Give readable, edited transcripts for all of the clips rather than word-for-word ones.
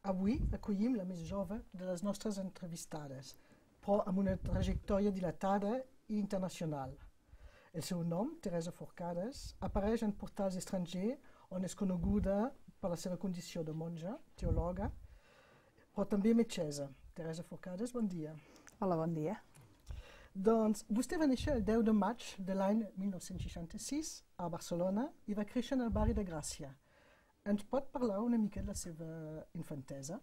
Avui acollim la més jove de les nostres entrevistades, però amb una trajectòria dilatada i internacional. El seu nom, Teresa Forcades, apareix en portals estrangers on és coneguda per la seva condició de monja, teòloga, però també metgessa. Teresa Forcades, bon dia. Hola, bon dia. Doncs vostè va néixer el 10 de maig de l'any 1966 a Barcelona i va créixer en el barri de Gràcia. Ens pot parlar una mica de la seva infantesa?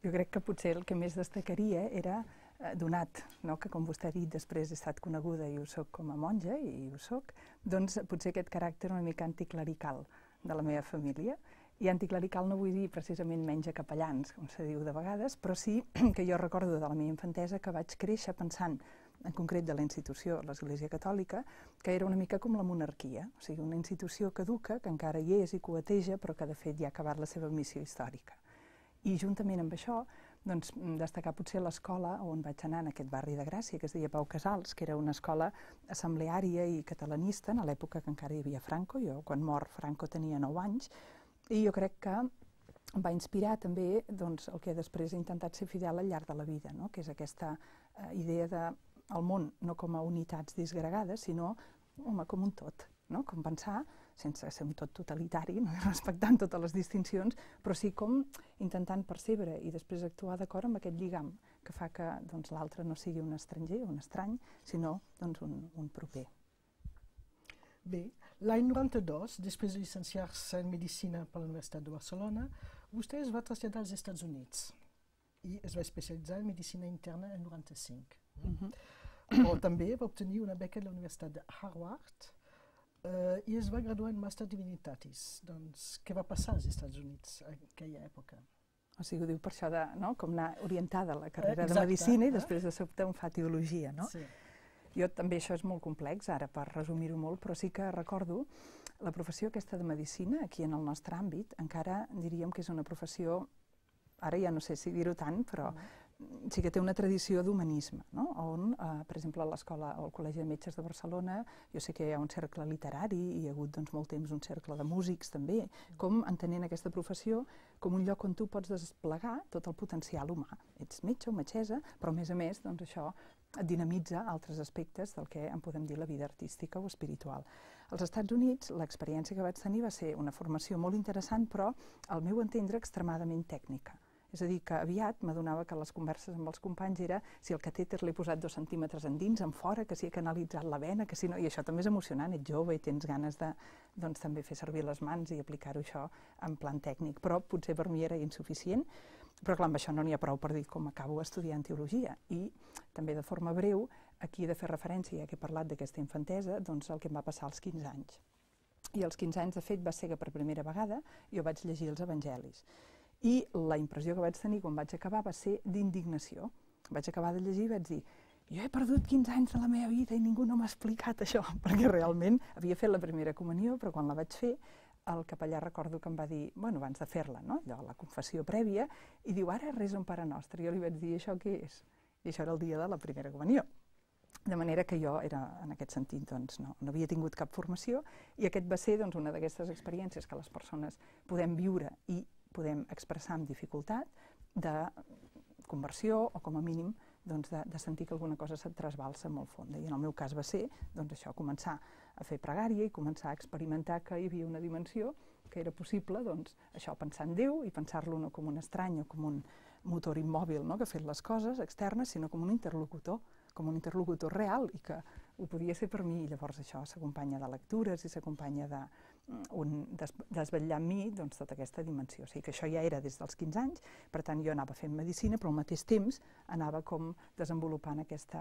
Jo crec que potser el que més destacaria era, donat que, com vostè ha dit, després he estat coneguda i ho soc com a monja, i ho soc, doncs potser aquest caràcter una mica anticlerical de la meva família. I anticlerical no vull dir precisament menys capellans, com se diu de vegades, però sí que jo recordo de la meva infantesa que vaig créixer pensant, en concret de la institució, l'Església Catòlica, que era una mica com la monarquia, o sigui, una institució caduca, que encara hi és i coeteja, però que de fet ja ha acabat la seva missió històrica. I juntament amb això, doncs, destacar potser l'escola on vaig anar en aquest barri de Gràcia, que es deia Pau Casals, que era una escola assembleària i catalanista, en l'època que encara hi havia Franco. Jo, quan mor Franco, tenia 9 anys, i jo crec que em va inspirar també el que després he intentat ser fidel al llarg de la vida, que és aquesta idea del món no com a unitats disgregades, sinó com un tot, com pensar, sense ser un tot totalitari, respectant totes les distincions, però sí com intentant percebre i després actuar d'acord amb aquest lligam que fa que l'altre no sigui un estranger o un estrany, sinó un proper. Bé, l'any 92, després de llicenciar-se en Medicina per la Universitat de Barcelona, vostè es va traslladar als Estats Units i es va especialitzar en Medicina Interna en 95. Però també va obtenir una beca de la Universitat de Harvard i es va graduar en Master Divinitatis. Doncs, què va passar als Estats Units en aquella època? O sigui, ho diu per això de com anar orientada a la carrera de Medicina i després de sobte on fa teologia, no? Sí. Jo també, això és molt complex, ara per resumir-ho molt, però sí que recordo la professió aquesta de Medicina, aquí en el nostre àmbit, encara diríem que és una professió, ara ja no sé si dir-ho tant, però sí que té una tradició d'humanisme, on, per exemple, a l'escola o al Col·legi de Metges de Barcelona, jo sé que hi ha un cercle literari i hi ha hagut molt temps un cercle de músics també, com entenent aquesta professió com un lloc on tu pots desplegar tot el potencial humà. Ets metge o metgessa, però a més, això dinamitza altres aspectes del que en podem dir la vida artística o espiritual. Als Estats Units, l'experiència que vaig tenir va ser una formació molt interessant, però, al meu entendre, extremadament tècnica. És a dir, que aviat m'adonava que les converses amb els companys era si el catèter l'he posat 2 centímetres endins, en fora, que si he canalitzat la vena, que si no... I això també és emocionant, ets jove i tens ganes de també fer servir les mans i aplicar-ho això en plan tècnic. Però potser per mi era insuficient, però clar, amb això no n'hi ha prou per dir com acabo estudiant teologia. I també de forma breu, aquí he de fer referència, ja que he parlat d'aquesta infantesa, el que em va passar als 15 anys. I als 15 anys, de fet, va ser que per primera vegada jo vaig llegir els evangelis. I la impressió que vaig tenir quan vaig acabar va ser d'indignació. Vaig acabar de llegir i vaig dir jo he perdut 15 anys de la meva vida i ningú no m'ha explicat això, perquè realment havia fet la primera comunió, però quan la vaig fer, el capellà recordo que em va dir, abans de fer-la, allò, la confessió prèvia, i diu, ara resa un Pare Nostre. Jo li vaig dir, això què és? I això era el dia de la primera comunió. De manera que jo era, en aquest sentit, no havia tingut cap formació, i aquest va ser una d'aquestes experiències que les persones podem viure i podem expressar amb dificultat de conversió o, com a mínim, de sentir que alguna cosa se't trasbalsa molt fonda. I en el meu cas va ser això, començar a fer pregària i començar a experimentar que hi havia una dimensió que era possible, això, pensar en Déu i pensar-lo no com un estrany o com un motor immòbil que ha fet les coses externes, sinó com un interlocutor real i que ho podia ser per mi. I llavors això s'acompanya de lectures i s'acompanya de desvetllar en mi tota aquesta dimensió. O sigui que això ja era des dels 15 anys, per tant jo anava fent medicina, però al mateix temps anava com desenvolupant aquest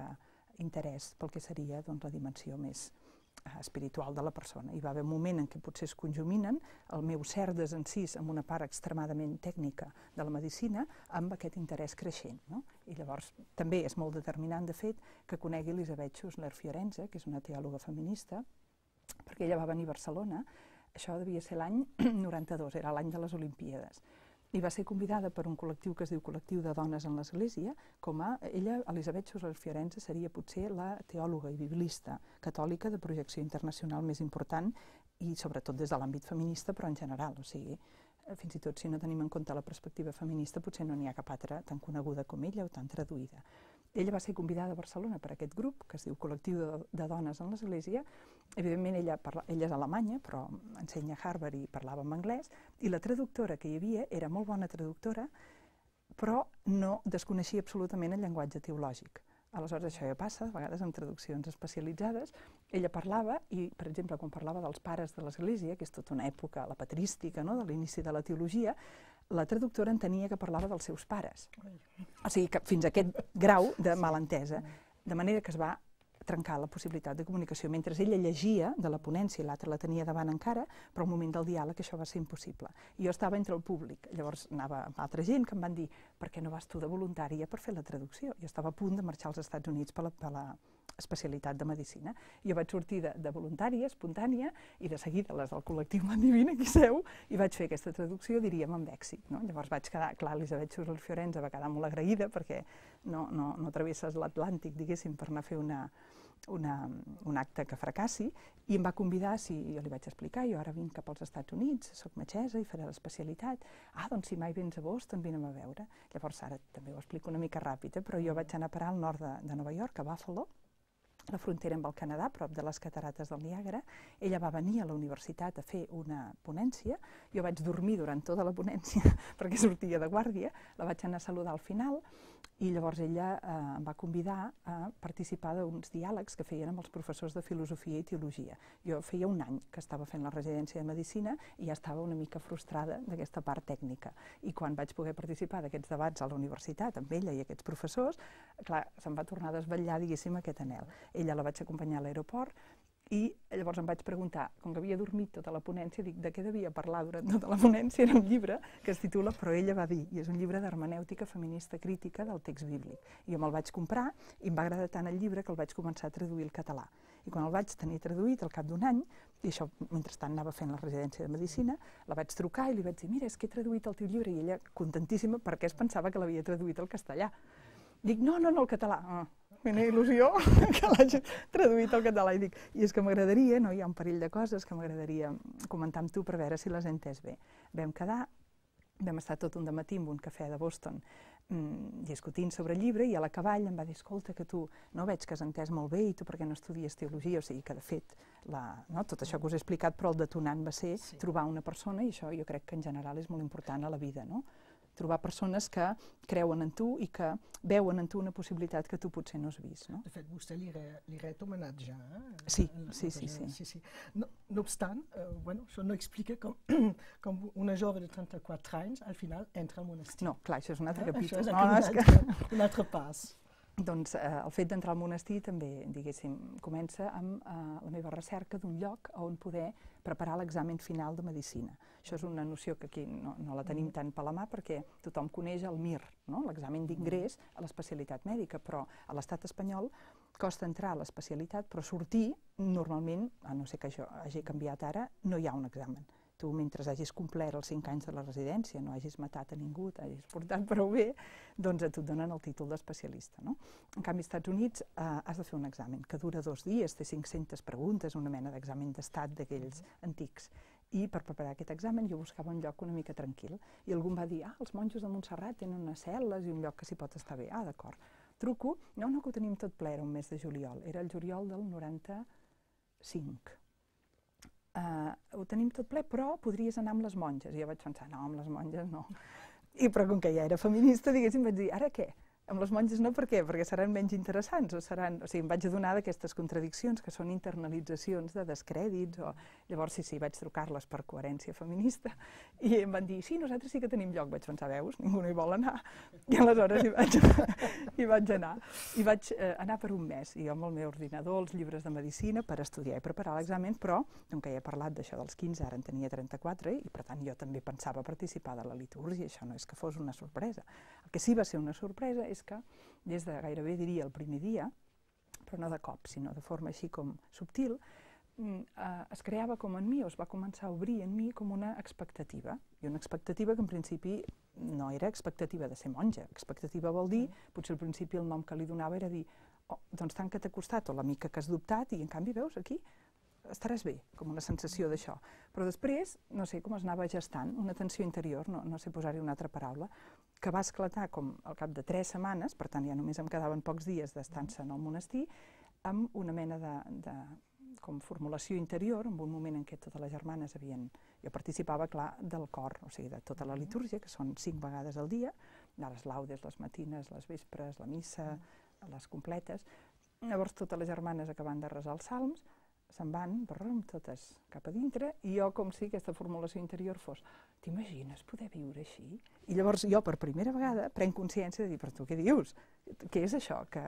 interès pel que seria la dimensió més espiritual de la persona. Hi va haver un moment en què potser es conjuminen el meu cert desencís amb una part extremadament tècnica de la medicina amb aquest interès creixent. I llavors també és molt determinant, de fet, que conegui Elisabeth Schussler Fiorenza, que és una teòloga feminista, perquè ella va venir a Barcelona, això devia ser l'any 92, era l'any de les Olimpíades. I va ser convidada per un col·lectiu que es diu Col·lectiu de Dones en l'Església, ella, Elisabeth Schussler Fiorenza, seria potser la teòloga i biblista catòlica de projecció internacional més important i sobretot des de l'àmbit feminista, però en general. O sigui, fins i tot si no tenim en compte la perspectiva feminista, potser no n'hi ha cap altra tan coneguda com ella o tan traduïda. Ella va ser convidada a Barcelona per aquest grup, que es diu Col·lectiu de Dones en l'Església. Evidentment, ella és alemanya, però ensenya a Harvard i parlava en anglès, i la traductora que hi havia era molt bona traductora, però no desconeixia absolutament el llenguatge teològic. Aleshores, això ja passa, a vegades en traduccions especialitzades. Ella parlava, i per exemple, quan parlava dels pares de l'Església, que és tota una època, la patrística, de l'inici de la teologia, la traductora entenia que parlava dels seus pares. O sigui, que fins a aquest grau de malentesa, de manera que es va trencar la possibilitat de comunicació. Mentre ella llegia de la ponència i l'altra la tenia davant encara, però al moment del diàleg això va ser impossible. I jo estava entre el públic, llavors anava amb altra gent que em van dir per què no vas tu de voluntària per fer la traducció? Jo estava a punt de marxar als Estats Units per la especialitat de medicina. Jo vaig sortir de voluntària, espontània, i de seguida les del col·lectiu Mandivina, aquí seu, i vaig fer aquesta traducció, diríem, amb èxit. Llavors vaig quedar, clar, Elisabet Schurler Fiorenza va quedar molt agraïda perquè no travesses l'Atlàntic, diguéssim, per anar a fer un acte que fracassi, i em va convidar, si jo li vaig explicar, jo ara vinc cap als Estats Units, soc metgessa i faré l'especialitat. Doncs si mai vens a Boston, vine'm a veure. Llavors ara també ho explico una mica ràpid, però jo vaig anar a parar al nord de Nova York, a Buffalo, la frontera amb el Canadà, prop de les catarates del Niàgara. Ella va venir a la universitat a fer una ponència, jo vaig dormir durant tota la ponència perquè sortia de guàrdia, la vaig anar a saludar al final, i llavors ella em va convidar a participar d'uns diàlegs que feien amb els professors de filosofia i teologia. Jo feia un any que estava fent la residència de medicina i ja estava una mica frustrada d'aquesta part tècnica. I quan vaig poder participar d'aquests debats a la universitat amb ella i aquests professors, clar, se'm va tornar a desvetllar, diguéssim, aquest anhel. Ella la vaig acompanyar a l'aeroport i llavors em vaig preguntar, com que havia dormit tota la ponència, dic, de què devia parlar durant tota la ponència? Era un llibre que es titula Però ella va dir, i és un llibre d'hermenèutica feminista crítica del text bíblic. I jo me'l vaig comprar i em va agradar tant el llibre que el vaig començar a traduir al català. I quan el vaig tenir traduït al cap d'un any, i això mentrestant anava fent la residència de medicina, la vaig trucar i li vaig dir, mira, és que he traduït el teu llibre, i ella, contentíssima, perquè es pensava que l'havia traduït al castellà. Dic, no, al català. Quina il·lusió que l'hagi traduït al català. I dic, i és que m'agradaria, hi ha un parell de coses que m'agradaria comentar amb tu per veure si les he entès bé. Vam quedar, vam estar tot un dematí en un cafè de Boston discutint sobre el llibre, i a l'acabar em va dir, escolta, que tu no veig que has entès molt bé i tu per què no estudies teologia? O sigui que, de fet, tot això que us he explicat, però el detonant va ser trobar una persona, i això jo crec que en general és molt important a la vida, no? Trobar persones que creuen en tu i que veuen en tu una possibilitat que tu potser no has vist. De fet, vostè li ret homenatge. Sí. No obstant, això no explica com una jove de 34 anys al final entra al monestir. No, clar, això és un altre capítol. Això és un altre pas. Doncs el fet d'entrar al monestir també, diguéssim, comença amb la meva recerca d'un lloc on poder preparar l'examen final de medicina. Això és una noció que aquí no la tenim tant per la mà perquè tothom coneix el MIR, l'examen d'ingrés a l'especialitat mèdica, però a l'estat espanyol costa entrar a l'especialitat, però sortir, normalment, a no ser que això hagi canviat ara, no hi ha un examen. Tu, mentre hagis complert els 5 anys de la residència, no hagis matat a ningú, t'hagis portat prou bé, doncs a tu et donen el títol d'especialista. En canvi, als Estats Units has de fer un examen que dura 2 dies, té 500 preguntes, una mena d'examen d'estat d'aquells antics. I per preparar aquest examen jo buscava un lloc una mica tranquil. I algú em va dir, els monjos de Montserrat tenen unes cel·les i un lloc que s'hi pot estar bé. D'acord. Truco, no, que ho tenim tot ple, era un mes de juliol. Era el juliol del 95. Ho tenim tot ple, però podries anar amb les monges. I jo vaig pensar, no, amb les monges no. Però com que ja era feminista, diguéssim, vaig dir, ara què? Amb les monges no, per què? Perquè seran menys interessants o seran... O sigui, em vaig adonar d'aquestes contradiccions que són internalitzacions de descrèdits o... Llavors, sí, vaig trucar-les per coherència feminista i em van dir, sí, nosaltres sí que tenim lloc. Vaig pensar, veus, ningú no hi vol anar. I aleshores hi vaig anar. I vaig anar per un mes, i jo amb el meu ordinador, els llibres de medicina, per estudiar i preparar l'examen, però, com que ja he parlat d'això dels 15, ara en tenia 34, i per tant jo també pensava participar de la litúrgia, això no és que fos una sorpresa. El que sí va ser una sorpresa és que des de gairebé diria el primer dia, però no de cop, sinó de forma així com subtil, es creava com en mi, o es va començar a obrir en mi com una expectativa. I una expectativa que en principi no era expectativa de ser monja. Expectativa vol dir, potser al principi el nom que li donava era dir, doncs tant que t'ha costat, o la mica que has dubtat, i en canvi veus aquí, estaràs bé, com una sensació d'això. Però després, no sé, com es anava gestant, una tensió interior, no sé posar-hi una altra paraula, que va esclatar com al cap de 3 setmanes, per tant ja només em quedaven pocs dies d'estança en el monestir, amb una mena de com formulació interior, en un moment en què totes les germanes havien... Jo participava, clar, del cor, o sigui, de tota la litúrgia, que són 5 vegades al dia, de les laudes, les matines, les vespres, la missa, les completes. Llavors totes les germanes acabant de resar els salms, se'n van, totes cap a dintre, i jo com si aquesta formulació interior fos t'imagines poder viure així? I llavors jo per primera vegada prenc consciència de dir, però tu què dius? Què és això que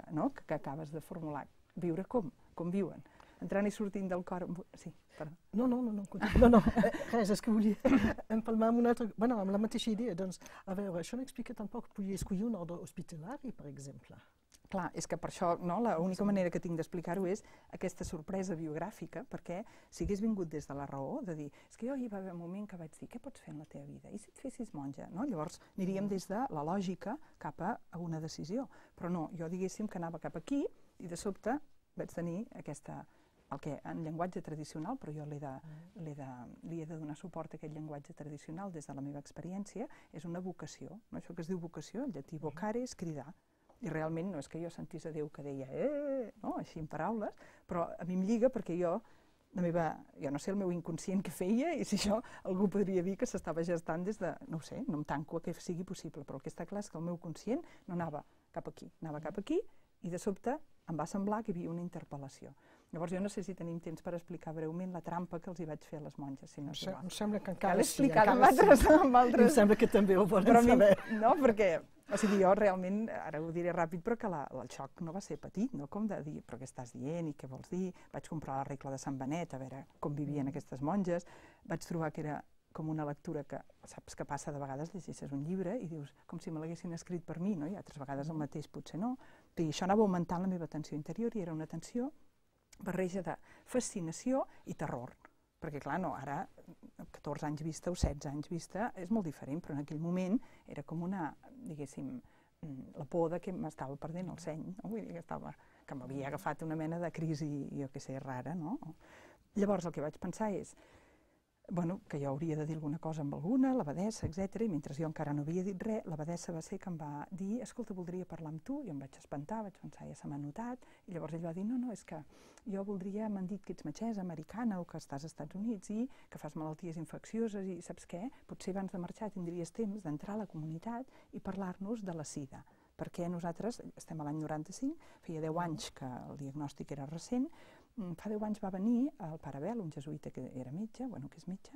acabes de formular? Viure com? Com viuen? Entrant i sortint del cor... Sí, perdó. No, res, és que volia empalmar amb una altra... Bueno, amb la mateixa idea, doncs, a veure, això no explica tampoc que podia escollir un ordre hospitalari, per exemple. Clar, és que per això l'única manera que tinc d'explicar-ho és aquesta sorpresa biogràfica, perquè si hagués vingut des de la raó, de dir, és que jo hi va haver un moment que vaig dir, què pots fer en la teva vida? I si et fessis monja? Llavors aniríem des de la lògica cap a una decisió. Però no, jo diguéssim que anava cap aquí i de sobte vaig tenir aquesta... el que en llenguatge tradicional, però jo li he de donar suport a aquest llenguatge tradicional des de la meva experiència, és una vocació. Això que es diu vocació, el llatí vocare és cridar. I realment no és que jo sentís a Déu que deia així en paraules, però a mi em lliga perquè jo no sé el meu inconscient què feia i si això algú podria dir que s'estava gestant des de, no ho sé, no em tanco a que sigui possible, però el que està clar és que el meu conscient no anava cap aquí, anava cap aquí i de sobte em va semblar que hi havia una interpel·lació. Llavors jo no sé si tenim temps per explicar breument la trampa que els hi vaig fer a les monges. Em sembla que encara cal explicar amb altres. Em sembla que també ho volen saber. No, perquè, o sigui, jo realment, ara ho diré ràpid, però que el xoc no va ser petit, no? Com de dir, però què estàs dient i què vols dir? Vaig comprar la regla de Sant Benet, a veure com vivien aquestes monges. Vaig trobar que era com una lectura que, saps que passa de vegades, llegeixes un llibre i dius, com si me l'haguessin escrit per mi, no? I altres vegades el mateix potser no. I això anava augmentant la meva tensió interior i era una tensió barreja de fascinació i terror. Perquè, clar, no, ara, 14 anys vista o 16 anys vista, és molt diferent, però en aquell moment era com una, diguéssim, la por de que m'estava perdent el seny, no? Vull dir que m'havia agafat una mena de crisi, jo què sé, rara, no? Llavors el que vaig pensar és que jo hauria de dir alguna cosa amb alguna, l'abadessa, etc. I mentre jo encara no havia dit res, l'abadessa va ser que em va dir, escolta, voldria parlar amb tu. Jo em vaig espantar, vaig pensar, ja se m'ha notat. I llavors ell va dir, no, és que jo voldria, m'han dit que ets metgessa americana o que estàs als Estats Units i que fas malalties infeccioses i saps què? Potser abans de marxar tindries temps d'entrar a la comunitat i parlar-nos de la sida. Perquè nosaltres, estem a l'any 95, feia 10 anys que el diagnòstic era recent. Fa 10 anys va venir el pare Abel, un jesuïta que era metge, que és metge,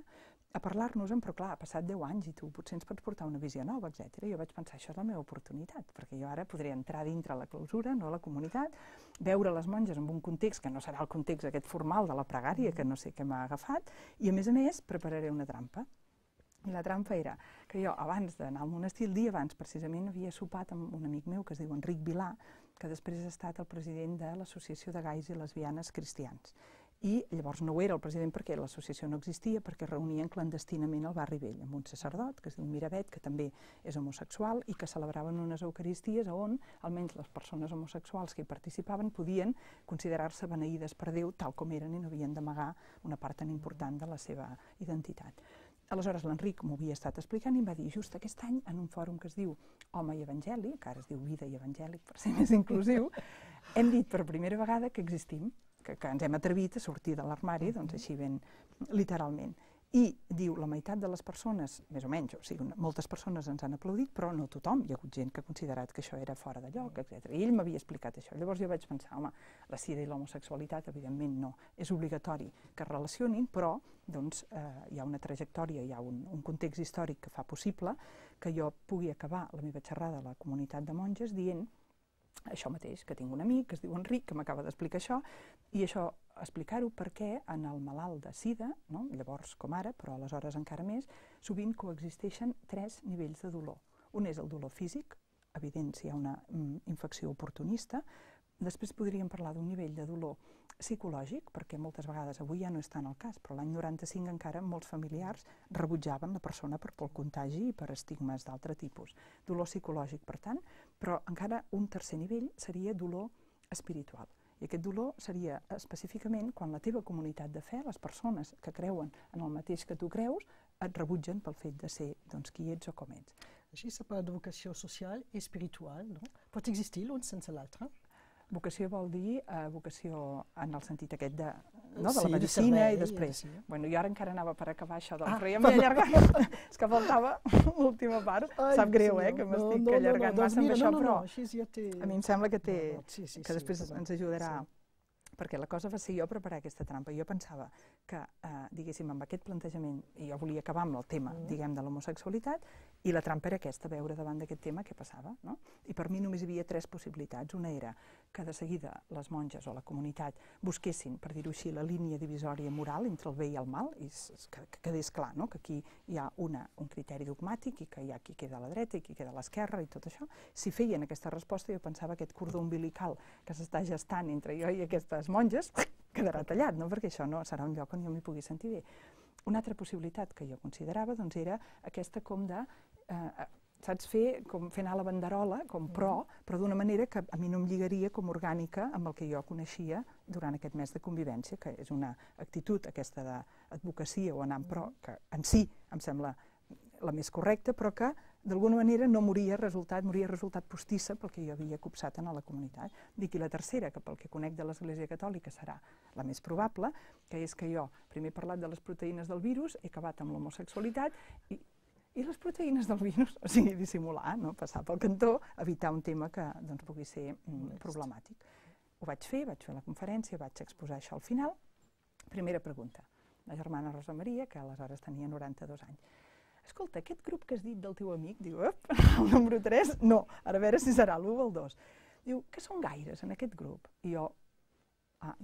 a parlar-nos-en, però clar, ha passat 10 anys i tu potser ens pots portar una visió nova, etc. I jo vaig pensar, això és la meva oportunitat, perquè jo ara podré entrar dintre la clausura, no a la comunitat, veure les monges en un context que no serà el context aquest formal de la pregària, que no sé què m'ha agafat, i a més, prepararé una trampa. I la trampa era que jo, abans d'anar al monestir, el dia abans, precisament, havia sopat amb un amic meu que es diu Enric Vilà, que després ha estat el president de l'Associació de Gais i Lesbianes Cristians. I llavors no ho era el president perquè l'associació no existia, perquè reunien clandestinament al barri vell, amb un sacerdot, que es diu Miravet, que també és homosexual, i que celebraven unes eucaristies on almenys les persones homosexuals que hi participaven podien considerar-se beneïdes per Déu tal com eren i no havien d'amagar una part tan important de la seva identitat. Aleshores l'Enric m'ho havia estat explicant i em va dir just aquest any en un fòrum que es diu Home i Evangeli, que ara es diu Vida i Evangèlic per ser més inclusiu, hem dit per primera vegada que existim, que ens hem atrevit a sortir de l'armari, doncs així ben literalment. I diu, la meitat de les persones, més o menys, o sigui, moltes persones ens han aplaudit, però no tothom, hi ha hagut gent que ha considerat que això era fora de lloc, etc. I ell m'havia explicat això. Llavors jo vaig pensar, home, la sida i l'homosexualitat, evidentment no, és obligatori que es relacionin, però doncs, hi ha una trajectòria, hi ha un context històric que fa possible que jo pugui acabar la meva xerrada a la comunitat de monges dient això mateix, que tinc un amic que es diu Enric, que m'acaba d'explicar això, i això explicar-ho perquè en el malalt de sida, llavors com ara, però aleshores encara més, sovint coexisteixen 3 nivells de dolor. Un és el dolor físic, evident si hi ha una infecció oportunista. Després podríem parlar d'un nivell de dolor psicològic, perquè moltes vegades, avui ja no és tant el cas, però l'any 95 encara molts familiars rebutjaven la persona per por al contagi i per estigmes d'altre tipus. Dolor psicològic, per tant, però encara un tercer nivell seria dolor espiritual. I aquest dolor seria específicament quan la teva comunitat de fe, les persones que creuen en el mateix que tu creus, et rebutgen pel fet de ser qui ets o com ets. Així s'ha parlat de vocació social i espiritual, no? Pot existir l'un sense l'altre? Vocació vol dir vocació en el sentit aquest de la medicina i després. Bueno, jo ara encara anava per acabar això del... Però ja m'he allargat. És que faltava l'última part. Sap greu, que m'estic allargant massa amb això, però a mi em sembla que després ens ajudarà. Perquè la cosa va ser jo preparar aquesta trampa. Jo pensava que, diguéssim, amb aquest plantejament, jo volia acabar amb el tema, diguem, de l'homosexualitat, i la trampa era aquesta, veure davant d'aquest tema què passava, no? I per mi només hi havia 3 possibilitats. Una era que de seguida les monges o la comunitat busquessin, per dir-ho així, la línia divisòria moral entre el bé i el mal, i que quedés clar, no? Que aquí hi ha un criteri dogmàtic i que hi ha qui queda a la dreta i qui queda a l'esquerra i tot això. Si feien aquesta resposta, jo pensava aquest cordó umbilical que s'està gestant entre jo i aquestes monges quedarà tallat, no? Perquè això no serà un lloc on jo m'hi pugui sentir bé. Una altra possibilitat que jo considerava era aquesta com de, saps, com fer anar la banderola, com però d'una manera que a mi no em lligaria com orgànica amb el que jo coneixia durant aquest mes de convivència, que és una actitud aquesta d'advocacia o anar en pro, que en si em sembla la més correcta, però que d'alguna manera no moria resultat postissa pel que jo havia copsat en la comunitat. Dic, i la tercera, que pel que conec de l'Església Catòlica serà la més probable, que és que jo primer he parlat de les proteïnes del virus, he acabat amb l'homosexualitat, i les proteïnes del virus, o sigui, dissimular, no? Passar pel cantó, evitar un tema que pugui ser problemàtic. Ho vaig fer la conferència, vaig exposar això al final. Primera pregunta, la germana Rosa Maria, que aleshores tenia 92 anys. Escolta, aquest grup que has dit del teu amic, diu, el número 3, no, ara a veure si serà l'1 o el 2. Diu, que són gaires en aquest grup? I jo,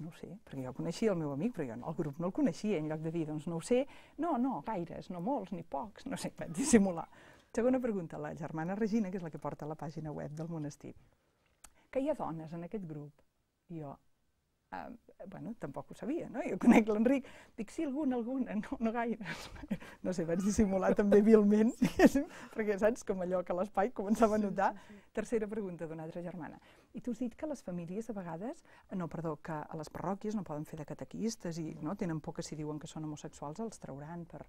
no ho sé, perquè jo coneixia el meu amic, però jo el grup no el coneixia, en lloc de dir, doncs no ho sé, no, gaires, no molts, ni pocs, no sé, vaig dissimular. Segona pregunta, la germana Regina, que és la que porta la pàgina web del monestir. Que hi ha dones en aquest grup? I jo, bueno, tampoc ho sabia, no? Jo conec l'Enric, dic, sí, alguna, no gaire. No sé, vaig dissimular també vilment, perquè saps, com allò que a l'espai començava a notar. Tercera pregunta d'una altra germana. I tu has dit que les famílies a vegades, que a les parròquies no poden fer de catequistes i tenen por que si diuen que són homosexuals els trauran per...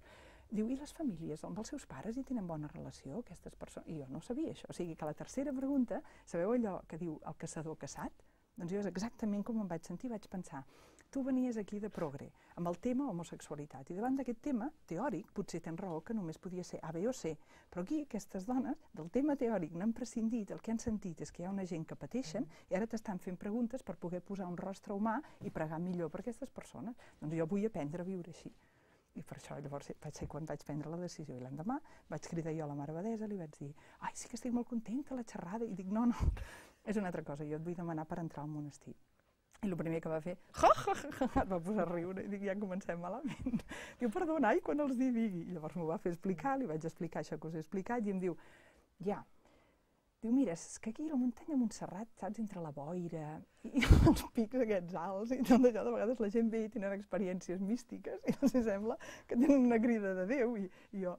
Diu, i les famílies, amb els seus pares hi tenen bona relació, aquestes persones? I jo no sabia això. O sigui que la tercera pregunta, sabeu allò que diu el caçador caçat? Doncs jo és exactament com em vaig sentir, vaig pensar, tu venies aquí de progre, amb el tema homosexualitat, i davant d'aquest tema teòric, potser tens raó que només podia ser A, B o C, però aquí aquestes dones, del tema teòric n'han prescindit, el que han sentit és que hi ha una gent que pateixen i ara t'estan fent preguntes per poder posar un rostre humà i pregar millor per aquestes persones. Doncs jo vull aprendre a viure així. I per això llavors vaig ser quan vaig prendre la decisió i l'endemà vaig cridar jo a la Mare Abadessa, li vaig dir, ai, sí que estic molt contenta, la xerrada, i dic, no, és una altra cosa, jo et vull demanar per entrar al monestir. I el primer que va fer, et va posar a riure, i dic, ja comencem malament. Diu, perdona, i quan els digui? I llavors m'ho va fer explicar, li vaig explicar això que us he explicat, i em diu, ja. Diu, mira, és que aquí a la muntanya de Montserrat, saps, entre la boira i els pics aquests alts i tot això, de vegades la gent ve i tenen experiències místiques i els sembla que tenen una crida de Déu i jo...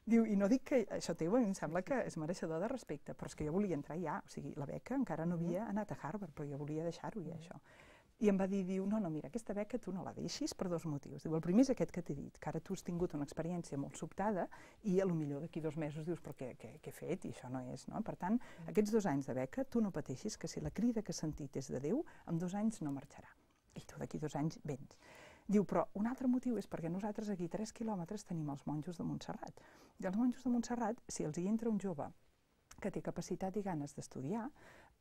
Diu, i no dic que això teu em sembla que és mereixedor de respecte, però és que jo volia entrar ja, o sigui, la beca encara no havia anat a Harvard, però jo volia deixar-ho ja, això. I em va dir, diu, no, mira, aquesta beca tu no la deixis per 2 motius. Diu, el primer és aquest que t'he dit, que ara tu has tingut una experiència molt sobtada i potser d'aquí 2 mesos dius, però què he fet? I això no és, no? Per tant, aquests 2 anys de beca, tu no pateixis que si la crida que has sentit és de Déu, en 2 anys no marxarà. I tu d'aquí 2 anys vens. Diu, però un altre motiu és perquè nosaltres aquí 3 quilòmetres tenim els monjos de Montserrat. I els monjos de Montserrat, si els hi entra un jove que té capacitat i ganes d'estudiar,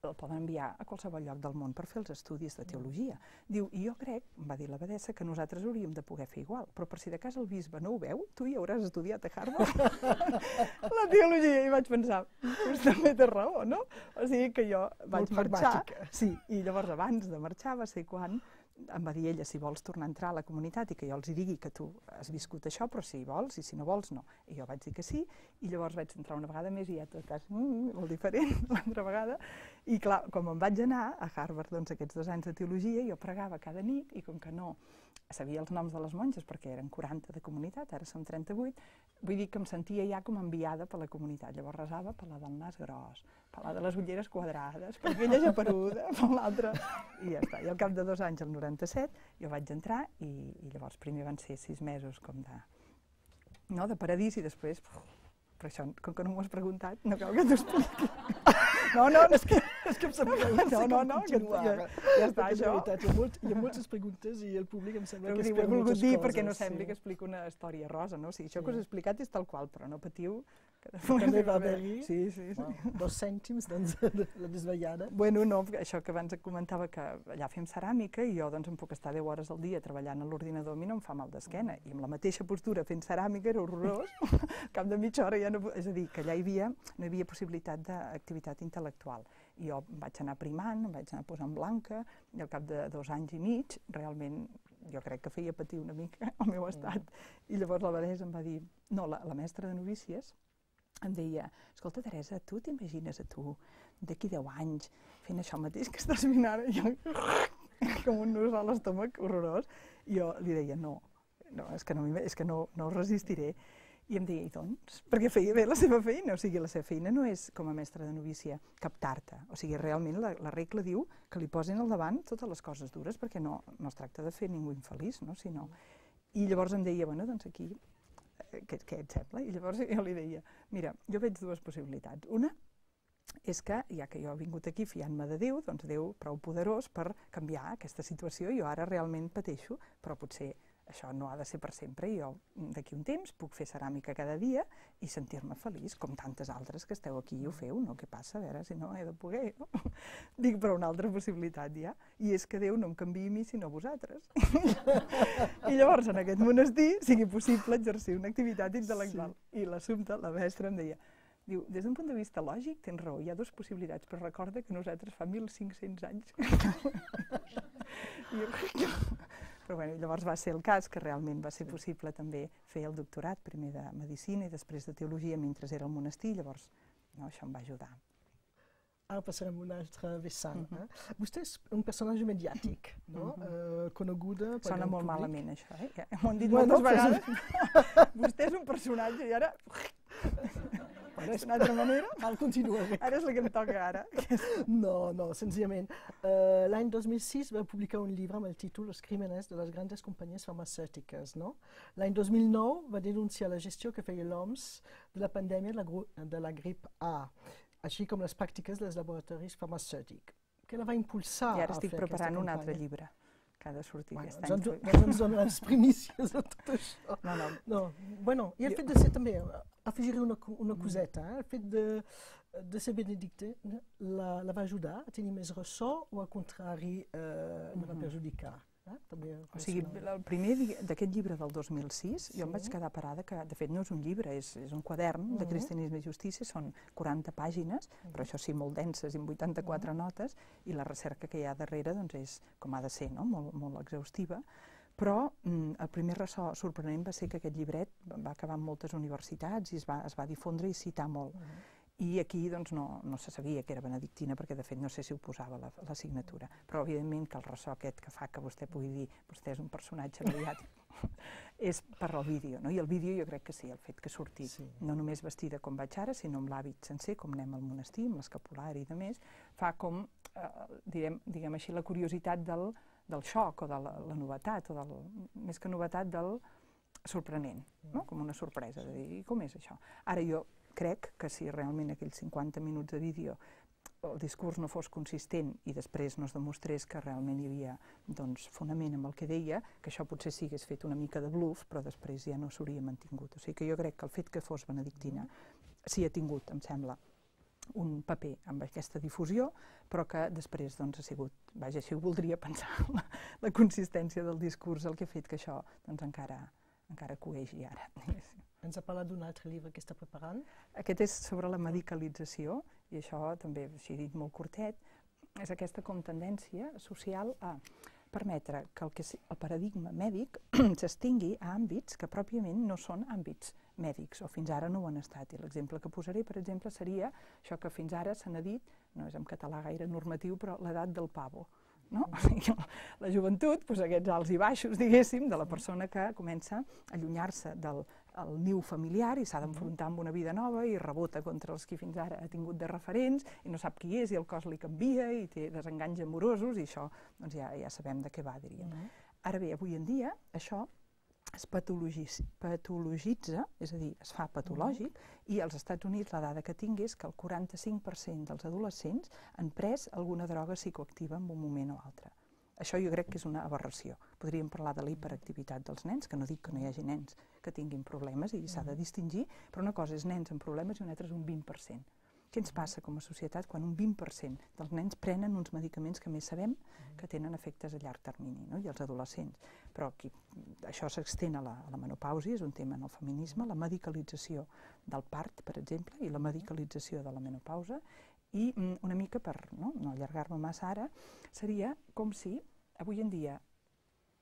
el poden enviar a qualsevol lloc del món per fer els estudis de teologia. Diu, i jo crec, va dir l'abadessa, que nosaltres hauríem de poder fer igual, però per si de cas el bisbe no ho veu, tu hi hauràs estudiat a Harvard la teologia. I vaig pensar, doncs també té raó, no? O sigui que jo vaig marxar. Sí, i llavors abans de marxar va ser quan em va dir ella si vols tornar a entrar a la comunitat i que jo els hi digui que tu has viscut això, però si vols i si no vols, no. I jo vaig dir que sí, i llavors vaig entrar una vegada més i ja tot cas molt diferent l'altra vegada. I clar, com em vaig anar a Harvard, doncs aquests 2 anys de teologia, jo pregava cada nit i com que no sabia els noms de les monges perquè eren 40 de comunitat, ara som 38, vull dir que em sentia ja com enviada per la comunitat. Llavors resava per la del nas gros, per la de les ulleres quadrades, per aquella japeruda, per l'altra, i ja està. I al cap de 2 anys, el 97, jo vaig entrar i llavors primer van ser 6 mesos com de paradís i després, però això, com que no m'ho has preguntat, no cal que t'ho expliqui. No, és que em sembla que ja està, això. Hi ha moltes preguntes i el públic em sembla que espera moltes coses. Ho he volgut dir perquè no sembli que explico una història rosa, no? Això que us he explicat és tal qual, però no patiu. També va haver-hi 2 cèntims de la desvetllada. Bueno, no, això que abans comentava que allà fem ceràmica i jo doncs em puc estar 10 hores al dia treballant a l'ordinador, a mi no em fa mal d'esquena. I amb la mateixa postura fent ceràmica era horrorós. Al cap de mitja hora ja no... És a dir, que allà no hi havia possibilitat d'activitat intel·lectual. I jo vaig anar primant, em vaig anar posant blanca i al cap de 2 anys i mig realment jo crec que feia patir una mica el meu estat. I llavors l'abadessa em va dir, no, la mestra de novícies em deia, escolta, Teresa, tu t'imagines a tu d'aquí 10 anys fent això mateix que estàs fent ara? I jo, com un nus a l'estómac, horrorós. I jo li deia, no, és que no resistiré. I em deia, i doncs? Perquè feia bé la seva feina. O sigui, la seva feina no és, com a mestra de novícia, captar-te. O sigui, realment la regla diu que li posin al davant totes les coses dures perquè no es tracta de fer ningú infeliç, no? I llavors em deia, bueno, doncs aquí què et sembla? I llavors jo li deia, mira, jo veig 2 possibilitats. Una és que, ja que jo he vingut aquí fiant-me de Déu, doncs Déu prou poderós per canviar aquesta situació. Jo ara realment pateixo, però potser això no ha de ser per sempre i jo d'aquí un temps puc fer ceràmica cada dia i sentir-me feliç, com tantes altres que esteu aquí i ho feu, no? Què passa? A veure si no he de poder. Dic, però una altra possibilitat ja, i és que Déu no em canviï a mi sinó a vosaltres. I llavors en aquest monestir sigui possible exercir una activitat intel·lectual. I l'assumpte, la mestra em deia, diu, des d'un punt de vista lògic tens raó, hi ha 2 possibilitats, però recorda que nosaltres fa 1.500 anys. Però bueno, llavors va ser el cas que realment va ser possible també fer el doctorat, primer de Medicina i després de Teologia mentre era al monestir, llavors això em va ajudar. Ara passarem a un altre vessant. Vostè és un personatge mediàtic, coneguda... Sona molt malament això, eh? M'ho han dit moltes vegades. Vostè és un personatge i ara... És una altra manera? Cal continuar. Ara és la que em toca ara. No, senzillament. L'any 2006 va publicar un llibre amb el títol Los crímenes de les grandes companyies farmacèutiques. L'any 2009 va denunciar la gestió que feia l'OMS de la pandèmia de la grip A, així com les pràctiques dels laboratoris farmacèutics. Què la va impulsar a fer aquesta campanya? I ara estic preparant un altre llibre que ha de sortir aquest any. Doncs ens donen les primícies de tot això. No. I el fet de ser també, afegir una coseta, el fet de ser benedicte la va ajudar a tenir més ressò o al contrari la va perjudicar? O sigui, el primer d'aquest llibre del 2006, jo em vaig quedar parada que, de fet, no és un llibre, és un quadern de Cristianisme i Justícia, són 40 pàgines, però això sí, molt denses, amb 84 notes, i la recerca que hi ha darrere és, com ha de ser, molt exhaustiva. Però el primer ressò sorprenent va ser que aquest llibret va acabar en moltes universitats i es va difondre i citar molt. I aquí no se sabia que era benedictina perquè de fet no sé si ho posava la signatura, però evidentment que el ressò aquest que fa que vostè pugui dir vostè és un personatge mediàtic és per al vídeo, i el vídeo jo crec que sí, el fet que surti no només vestida com vaig ara, sinó amb l'hàbit sencer, com anem al monestir, amb l'escapulari i de més, fa com, diguem així, la curiositat del xoc o de la novetat, o més que novetat del sorprenent, com una sorpresa, de dir, com és això? Ara jo crec que si realment aquells 50 minuts de vídeo el discurs no fos consistent i després no es demostrés que realment hi havia fonament amb el que deia, que això potser sí hagués fet una mica de bluff, però després ja no s'hauria mantingut. O sigui que jo crec que el fet que fos benedictina sí ha tingut, em sembla, un paper amb aquesta difusió, però que després ha sigut, vaja, així ho voldria pensar, la consistència del discurs, el que ha fet que això encara coegi ara. Ens ha parlat d'un altre llibre que està preparant? Aquest és sobre la medicalització, i això també, així dit molt curtet, és aquesta com tendència social a permetre que el paradigma mèdic s'estengui a àmbits que pròpiament no són àmbits mèdics, o fins ara no ho han estat. I l'exemple que posaré, per exemple, seria això que fins ara se n'ha dit, no és en català gaire normatiu, però l'edat del pavo. La joventut, aquests alts i baixos, diguéssim, de la persona que comença a allunyar-se del niu familiar i s'ha d'enfrontar amb una vida nova i rebota contra els que fins ara ha tingut de referents i no sap qui és i el cos li canvia i té desenganys amorosos i això ja sabem de què va, diríem. Ara bé, avui en dia això es patologitza, és a dir, es fa patològic, i als Estats Units la dada que tinc és que el 45% dels adolescents han pres alguna droga psicoactiva en un moment o altre. Això jo crec que és una aberració. Podríem parlar de la hiperactivitat dels nens, que no dic que no hi hagi nens que tinguin problemes i s'ha de distingir, però una cosa és nens amb problemes i una altra és un 20%. Què ens passa com a societat quan un 20% dels nens prenen uns medicaments que més sabem que tenen efectes a llarg termini, i els adolescents? Però això s'extén a la menopàusia, és un tema en el feminisme, la medicalització del part, per exemple, i la medicalització de la menopausa, i una mica, per no allargar-me massa ara, seria com si avui en dia,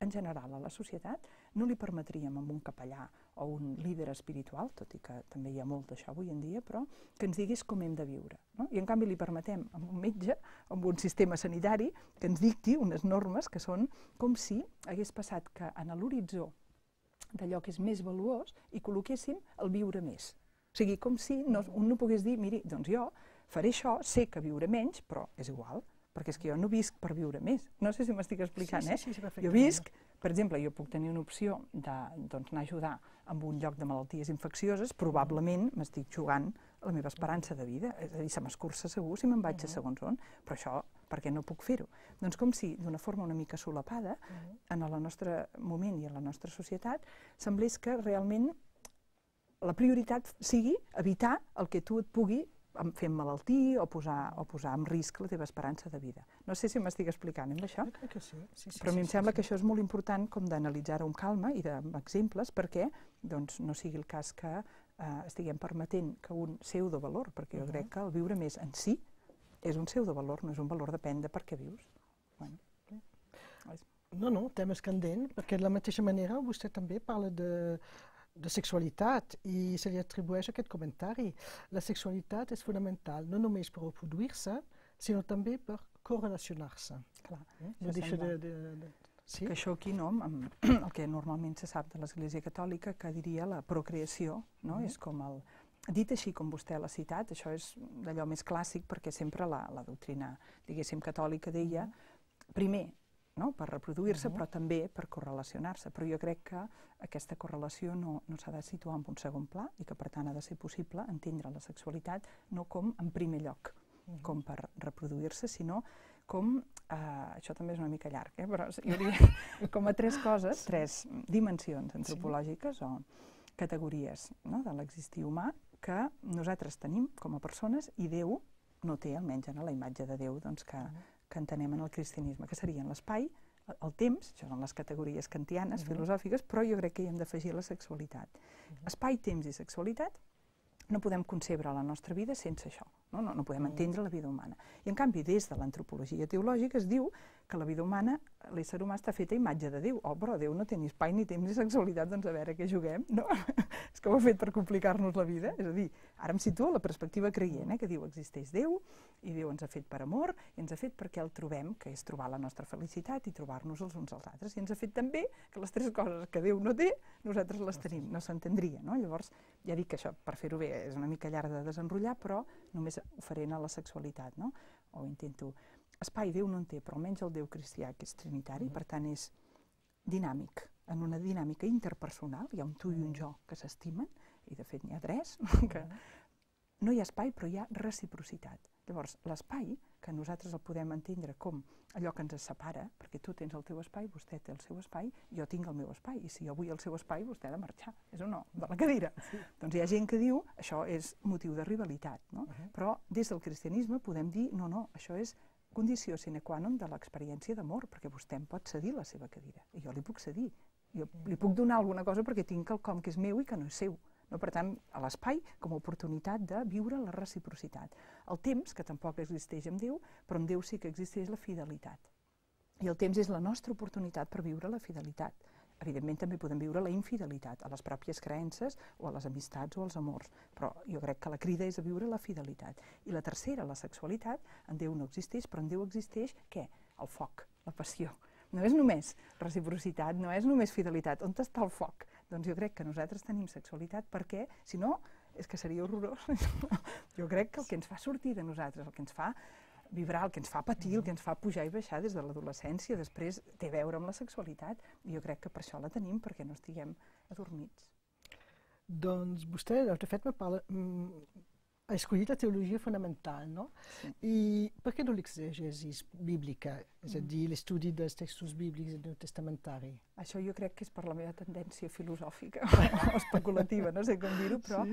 en general, a la societat, no li permetríem a un capellà o un líder espiritual, tot i que també hi ha molt d'això avui en dia, però que ens digués com hem de viure. I en canvi li permetem a un metge, a un sistema sanitari, que ens dicti unes normes que són com si hagués passat que en l'horitzó d'allò que és més valuós hi col·loquéssim el viure més. O sigui, com si un no pogués dir, miri, doncs jo faré això, sé que viuré menys, però és igual, perquè és que jo no visc per viure més. No sé si m'estic explicant, eh? Jo visc, per exemple, jo puc tenir una opció d'anar a ajudar en un lloc de malalties infeccioses, probablement m'estic jugant la meva esperança de vida, és a dir, se m'escurça segur si me'n vaig a segons on, però això, per què no puc fer-ho? Doncs com si, d'una forma una mica solapada, en el nostre moment i en la nostra societat, semblés que realment la prioritat sigui evitar el que tu et pugui fer emmalaltir o posar en risc la teva esperança de vida. No sé si m'estic explicant amb això, però a mi em sembla que això és molt important com d'analitzar-ho amb calma i amb exemples perquè no sigui el cas que estiguem permetent que un pseudovalor, perquè jo crec que el viure més en si és un pseudovalor, no és un valor, depèn de per què vius. No, tema és candent, perquè de la mateixa manera vostè també parla de sexualitat i se li atribueix aquest comentari. La sexualitat és fonamental, no només per reproduir-se, sinó també per correlacionar-se. Clar, que això aquí, el que normalment se sap de l'Església Catòlica, que diria la procreació, és com el... Dit així com vostè l'ha citat, això és d'allò més clàssic perquè sempre la doctrina, diguéssim, catòlica deia, primer, per reproduir-se, però també per correlacionar-se. Però jo crec que aquesta correlació no s'ha de situar en un segon pla i que, per tant, ha de ser possible entendre la sexualitat no com en primer lloc, com per reproduir-se, sinó com, això també és una mica llarg, però jo diria com a tres coses, tres dimensions antropològiques o categories de l'existir humà que nosaltres tenim com a persones i Déu no té, almenys en la imatge de Déu, que entenem en el cristianisme, que serien l'espai, el temps, això són les categories kantianes, filosòfiques, però jo crec que hi hem d'afegir la sexualitat. Espai, temps i sexualitat, no podem concebre la nostra vida sense això, no podem entendre la vida humana. I en canvi, des de l'antropologia teològica es diu que la vida humana, l'ésser humà està fet a imatge de Déu. Oh, però Déu no té ni espai, ni temps, ni sexualitat, doncs a veure què juguem, no? És que ho ha fet per complicar-nos la vida. És a dir, ara em situo a la perspectiva creient, que diu existeix Déu, i Déu ens ha fet per amor, i ens ha fet perquè el trobem, que és trobar la nostra felicitat i trobar-nos els uns als altres. I ens ha fet també que les tres coses que Déu no té, nosaltres les tenim. No s'entendria, no? Llavors, ja dic que això, per fer-ho bé, és una mica llarg de desenrotllar, però només ho faré a la sexualitat, no? O intento... Espai Déu no en té, però almenys el Déu cristià, que és trinitari, per tant és dinàmic, en una dinàmica interpersonal, hi ha un tu i un jo que s'estimen, i de fet n'hi ha tres, que no hi ha espai però hi ha reciprocitat. Llavors, l'espai, que nosaltres el podem entendre com allò que ens separa, perquè tu tens el teu espai, vostè té el seu espai, jo tinc el meu espai, i si jo vull el seu espai, vostè ha de marxar, és o no? De la cadira. Doncs hi ha gent que diu, això és motiu de rivalitat, no? Però des del cristianisme podem dir, no, això és condició sine qua non de l'experiència d'amor, perquè vostè em pot cedir la seva cadira, i jo li puc cedir. Jo li puc donar alguna cosa perquè tinc quelcom que és meu i que no és seu. Per tant, a l'espai com a oportunitat de viure la reciprocitat. El temps, que tampoc existeix en Déu, però en Déu sí que existeix la fidelitat. I el temps és la nostra oportunitat per viure la fidelitat. Evidentment també podem viure la infidelitat, a les pròpies creences o a les amistats o als amors, però jo crec que la crida és a viure la fidelitat. I la tercera, la sexualitat, en Déu no existeix, però en Déu existeix què? El foc, la passió. No és només reciprocitat, no és només fidelitat. On està el foc? Doncs jo crec que nosaltres tenim sexualitat perquè, si no, és que seria horrorós. Jo crec que el que ens fa sortir de nosaltres, el que ens fa vibrar, el que ens fa patir, el que ens fa pujar i baixar des de l'adolescència, després té a veure amb la sexualitat. I jo crec que per això la tenim, perquè no estiguem adormits. Doncs vostè, de fet, ha escollit la teologia fonamental, no? Sí. I per què no l'exegesi bíblica? És a dir, l'estudi dels textos bíblics i neotestamentari? Això jo crec que és per la meva tendència filosòfica o especulativa, no sé com dir-ho, però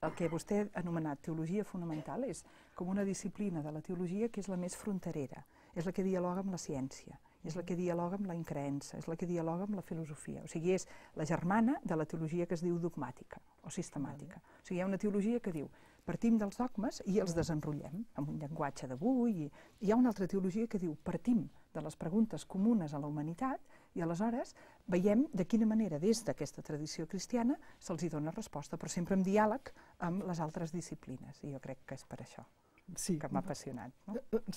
el que vostè ha anomenat teologia fonamental és com una disciplina de la teologia que és la més fronterera, és la que dialoga amb la ciència, és la que dialoga amb la increença, és la que dialoga amb la filosofia. O sigui, és la germana de la teologia que es diu dogmàtica o sistemàtica. O sigui, hi ha una teologia que diu partim dels dogmes i els desenrotllem amb un llenguatge d'avui. Hi ha una altra teologia que diu partim de les preguntes comunes a la humanitat i aleshores veiem de quina manera des d'aquesta tradició cristiana se'ls hi dona resposta, però sempre en diàleg amb les altres disciplines. I jo crec que és per això que m'ha apassionat.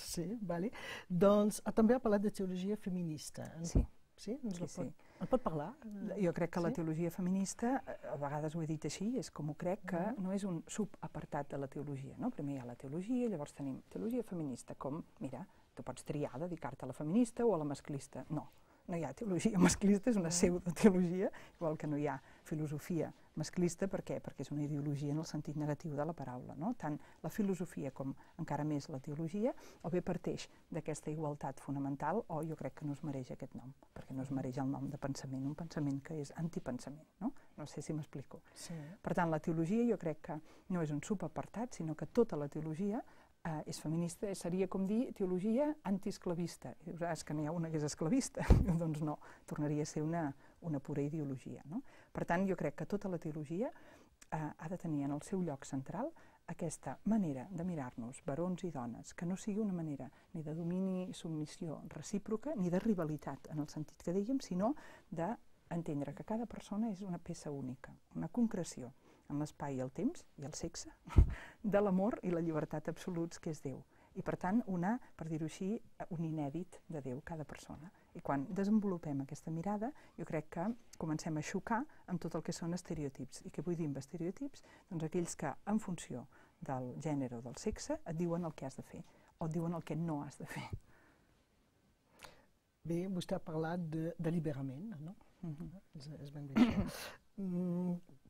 Sí, vale. Doncs també ha parlat de teologia feminista. Sí. Sí? En pot parlar? Jo crec que la teologia feminista, a vegades ho he dit així, és com ho crec, que no és un subapartat de la teologia. Primer hi ha la teologia, llavors tenim teologia feminista, com, mira, tu pots triar dedicar-te a la feminista o a la masclista. No hi ha teologia masclista, és una pseudoteologia, igual que no hi ha filosofia masclista. Per què? Perquè és una ideologia en el sentit negatiu de la paraula. Tant la filosofia com encara més la teologia o bé parteix d'aquesta igualtat fonamental o jo crec que no es mereix aquest nom, perquè no es mereix el nom de pensament, un pensament que és antipensament. No sé si m'explico. Per tant, la teologia jo crec que no és un subapartat, sinó que tota la teologia és feminista, seria com dir teologia antiesclavista. I dius, és que n'hi ha una que és esclavista. Doncs no, tornaria a ser una pura ideologia. Per tant, jo crec que tota la teologia ha de tenir en el seu lloc central aquesta manera de mirar-nos, barons i dones, que no sigui una manera ni de domini i submissió recíproca, ni de rivalitat, en el sentit que dèiem, sinó d'entendre que cada persona és una peça única, una concreció en l'espai i el temps, i el sexe, de l'amor i la llibertat absoluts que és Déu. I per tant, per dir-ho així, un inèdit de Déu, cada persona. I quan desenvolupem aquesta mirada, jo crec que comencem a xocar amb tot el que són estereotips. I què vull dir amb estereotips? Doncs aquells que, en funció del gènere o del sexe, et diuen el que has de fer, o et diuen el que no has de fer. Bé, vostè ha parlat d'alliberament, no? És ben bé.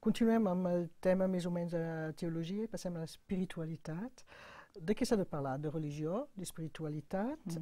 Continuem amb el tema més o menys de teologia i passem a l'espiritualitat. De què s'ha de parlar? De religió, d'espiritualitat?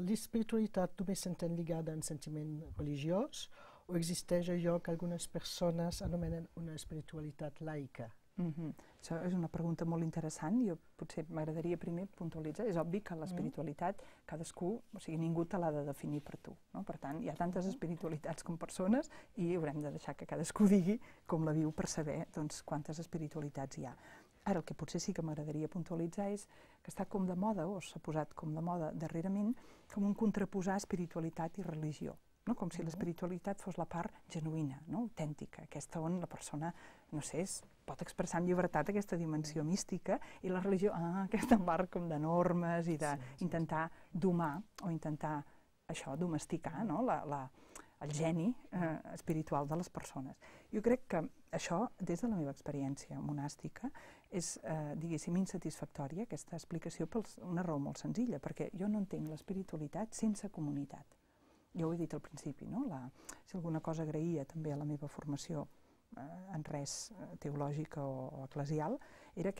L'espiritualitat només s'entén lligada a un sentiment religiós o existeix allò que algunes persones anomenen una espiritualitat laica? Això és una pregunta molt interessant. Jo potser m'agradaria primer puntualitzar. És obvi que l'espiritualitat, cadascú, o sigui, ningú te l'ha de definir per tu. Per tant, hi ha tantes espiritualitats com persones i haurem de deixar que cadascú digui com la viu per saber quantes espiritualitats hi ha. Ara, el que potser sí que m'agradaria puntualitzar és que està com de moda, o s'ha posat com de moda darrerament, com un contraposar espiritualitat i religió. Com si l'espiritualitat fos la part genuïna, autèntica, aquesta on la persona, no sé, pot expressar amb llibertat aquesta dimensió mística, i la religió, aquesta part com de normes i d'intentar domar o intentar domesticar el geni espiritual de les persones. Jo crec que això, des de la meva experiència monàstica, és, diguéssim, insatisfactòria, aquesta explicació, per una raó molt senzilla, perquè jo no entenc l'espiritualitat sense comunitat. Jo ho he dit al principi, si alguna cosa agraïa també a la meva formació en res teològica o eclesial, era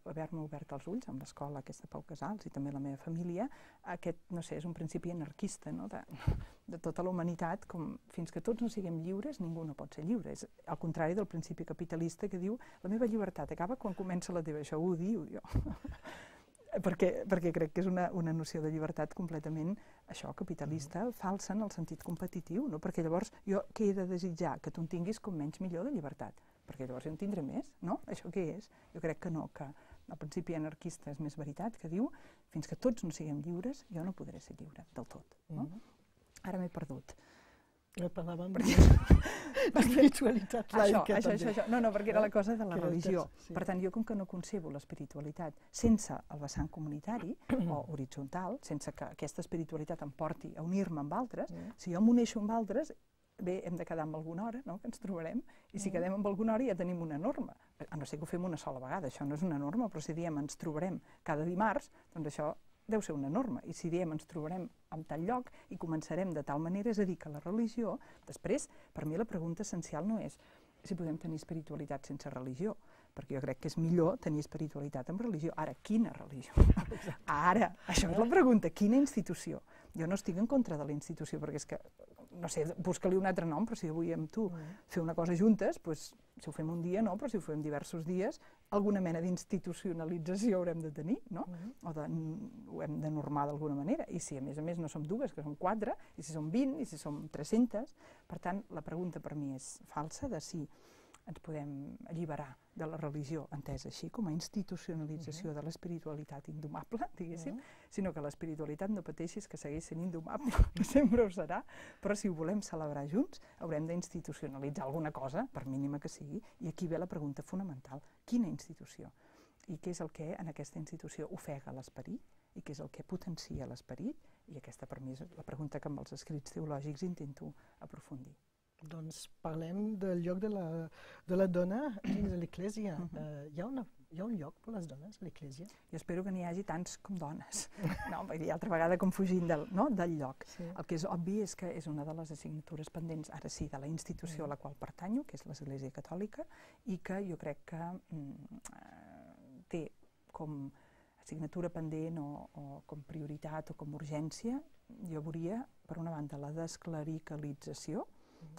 haver-me obert els ulls amb l'escola aquesta Pau Casals i també la meva família, aquest, no sé, és un principi anarquista de tota la humanitat, com fins que tots no siguem lliures, ningú no pot ser lliure. És al contrari del principi capitalista que diu la meva llibertat acaba quan comença la teva. Això ho diu jo. Perquè crec que és una noció de llibertat completament, capitalista, falsa en el sentit competitiu, perquè llavors jo què he de desitjar? Que tu en tinguis com menys millor de llibertat, perquè llavors jo en tindré més, no? Això què és? Jo crec que no, que el principi anarquista és més veritat, que diu fins que tots no siguem lliures, jo no podré ser lliure del tot. Ara m'he perdut. Parlàvem d'espiritualitat laica, també. Això. No, perquè era la cosa de la religió. Per tant, jo com que no concebo l'espiritualitat sense el vessant comunitari o horitzontal, sense que aquesta espiritualitat em porti a unir-me amb altres, si jo m'uneixo amb altres, bé, hem de quedar amb alguna hora, que ens trobarem, i si quedem amb alguna hora ja tenim una norma. A no ser que ho fem una sola vegada, això no és una norma, però si diem ens trobarem cada dimarts, doncs això deu ser una norma, i si diem ens trobarem en tal lloc i començarem de tal manera, és a dir, que la religió, després, per mi la pregunta essencial no és si podem tenir espiritualitat sense religió, perquè jo crec que és millor tenir espiritualitat amb religió. Ara, quina religió? Ara, això és la pregunta, quina institució? Jo no estic en contra de la institució, perquè és que, no sé, busca-li un altre nom, però si jo vull amb tu fer una cosa juntes, doncs, si ho fem un dia no, però si ho fem diversos dies, alguna mena d'institucionalització haurem de tenir, no? O ho hem de normar d'alguna manera. I si a més no som dues, que som 4, i si som 20, i si som 300, per tant, la pregunta per mi és falsa de si ens podem alliberar de la religió, entesa així, com a institucionalització de l'espiritualitat indomable, diguéssim, sinó que l'espiritualitat no pateixis que segueix sent indomable, que sempre ho serà, però si ho volem celebrar junts, haurem d'institucionalitzar alguna cosa, per mínima que sigui, i aquí ve la pregunta fonamental, quina institució? I què és el que en aquesta institució ofega l'esperit, i què és el que potencia l'esperit, i aquesta per mi és la pregunta que amb els escrits teològics intento aprofundir. Doncs parlem del lloc de la dona dins de l'Església. Hi ha un lloc per les dones a l'Església? Jo espero que n'hi hagi tants com dones. No, vull dir, altra vegada com fugint del lloc. El que és obvi és que és una de les assignatures pendents, ara sí, de la institució a la qual pertanyo, que és l'Església Catòlica, i que jo crec que té com assignatura pendent o com prioritat o com urgència, jo veuria, per una banda, la desclericalització,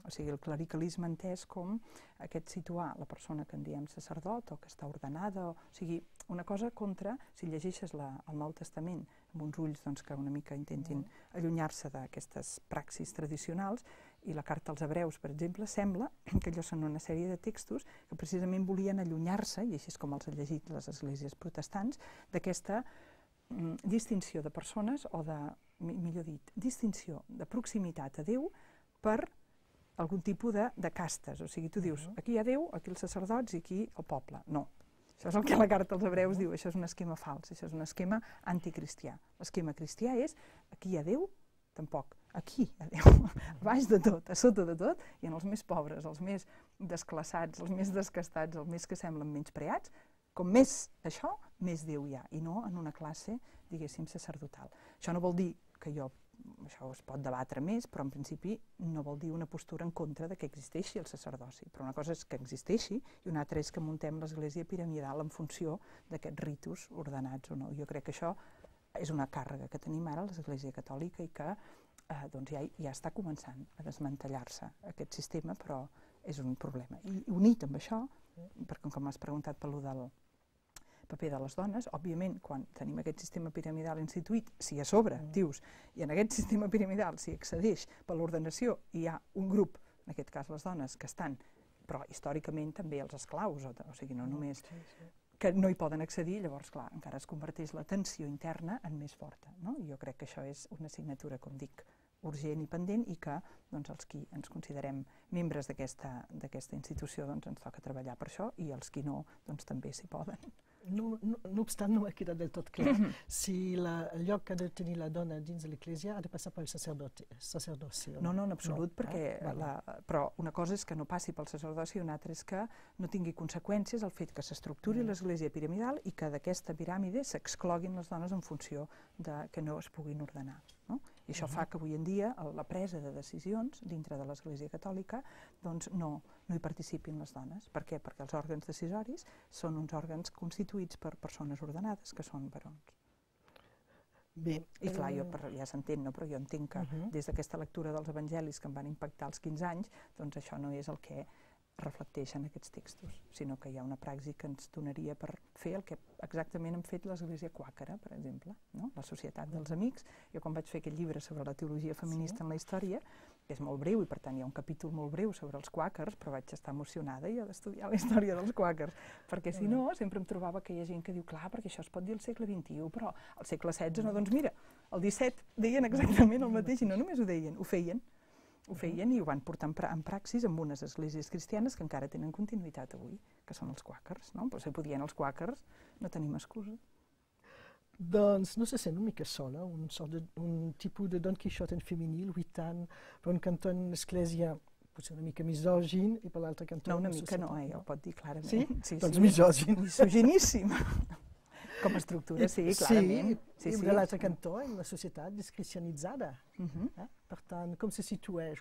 o sigui, el clericalisme entès com aquest situar la persona que en diem sacerdot o que està ordenada, o sigui, una cosa contra, si llegeixes el Nou Testament amb uns ulls que una mica intentin allunyar-se d'aquestes praxis tradicionals, i la carta als Hebreus, per exemple, sembla que allò són una sèrie de textos que precisament volien allunyar-se, i així és com els han llegit les esglésies protestants, d'aquesta distinció de persones o de, millor dit, distinció de proximitat a Déu per algun tipus de castes, o sigui, tu dius, aquí hi ha Déu, aquí els sacerdots i aquí el poble. No, això és el que la carta als Hebreus diu, això és un esquema fals, això és un esquema anticristià. L'esquema cristià és, aquí hi ha Déu, tampoc, aquí hi ha Déu, a baix de tot, a sota de tot, i en els més pobres, els més desclassats, els més descastats, els més que semblen menyspreats, com més això, més Déu hi ha, i no en una classe, diguéssim, sacerdotal. Això no vol dir que això es pot debatre més, però en principi no vol dir una postura en contra de que existeixi el sacerdoci. Però una cosa és que existeixi i una altra és que muntem l'església piramidal en funció d'aquests ritus ordenats o no. Jo crec que això és una càrrega que tenim ara a l'Església Catòlica i que ja està començant a desmantellar-se aquest sistema, però és un problema. I unit amb això, perquè com m'has preguntat per allò del paper de les dones, òbviament, quan tenim aquest sistema piramidal instituït, si a sobre dius, i en aquest sistema piramidal s'hi accedeix per l'ordenació i hi ha un grup, en aquest cas les dones, que estan, però històricament també els esclaus, o sigui, no només que no hi poden accedir, llavors, clar, encara es converteix la tensió interna en més forta, no? I jo crec que això és una assignatura, com dic, urgent i pendent i que els qui ens considerem membres d'aquesta institució ens toca treballar per això i els qui no, també s'hi poden. No obstant, no ha quedat del tot clar si el lloc que ha de tenir la dona dins de l'Església ha de passar pel sacerdoci. No, en absolut, però una cosa és que no passi pel sacerdoci i una altra és que no tingui conseqüències el fet que s'estructuri l'Església piramidal i que d'aquesta piràmide s'excloguin les dones en funció que no es puguin ordenar. I això fa que avui en dia la presa de decisions dintre de l'Església Catòlica no hi participin les dones. Per què? Perquè els òrgans decisoris són uns òrgans constituïts per persones ordenades, que són barons. I clar, ja s'entén, però jo entenc que des d'aquesta lectura dels evangelis que em van impactar als 15 anys, doncs això no és el que reflecteixen aquests textos, sinó que hi ha una praxi que ens donaria per fer el que exactament hem fet l'Església Quàquera, per exemple, la Societat dels Amics. Jo quan vaig fer aquest llibre sobre la teologia feminista en la història, que és molt breu i per tant hi ha un capítol molt breu sobre els quàquers, però vaig estar emocionada jo d'estudiar la història dels quàquers, perquè si no sempre em trobava que hi ha gent que diu, clar, perquè això es pot dir al segle XXI, però al segle XVI no, doncs mira, el 17 deien exactament el mateix, i no només ho deien, ho feien. Ho feien i ho van portar en praxis amb unes esglésies cristianes que encara tenen continuïtat avui, que són els quàquers, no? Però si podien els quàquers, no tenim excusa. Doncs no se sent una mica sola, un tipus de Don Quixote en femení, lluitant per un cantó en l'església potser una mica misògin i per l'altre cantó... No, una mica no, ja ho pot dir clarament. Sí? Doncs misògin. Misoginíssim. Com a estructura, sí, clarament. Sí, i de l'altre cantó, en una societat descristianitzada. Per tant, com se situeix?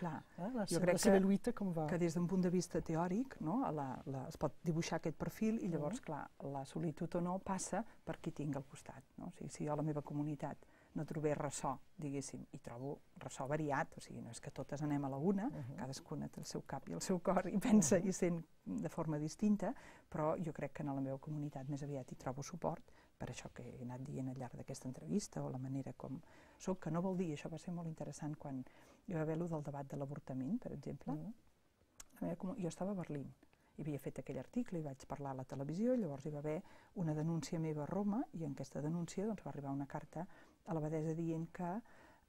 La seva lluita com va? Que des d'un punt de vista teòric es pot dibuixar aquest perfil i llavors, clar, la solitud o no passa per qui tinc al costat. O sigui, si jo a la meva comunitat no trobé ressò, diguéssim, i trobo ressò variat, o sigui, no és que totes anem a la una, cadascuna té el seu cap i el seu cor i pensa i sent de forma distinta, però jo crec que en la meva comunitat més aviat hi trobo suport, per això que he anat dient al llarg d'aquesta entrevista, o la manera com soc, que no vol dir, això va ser molt interessant quan hi va haver-lo del debat de l'avortament, per exemple. Jo estava a Berlín, i havia fet aquell article i vaig parlar a la televisió, i llavors hi va haver una denúncia meva a Roma, i en aquesta denúncia va arribar una carta a l'abadessa dient que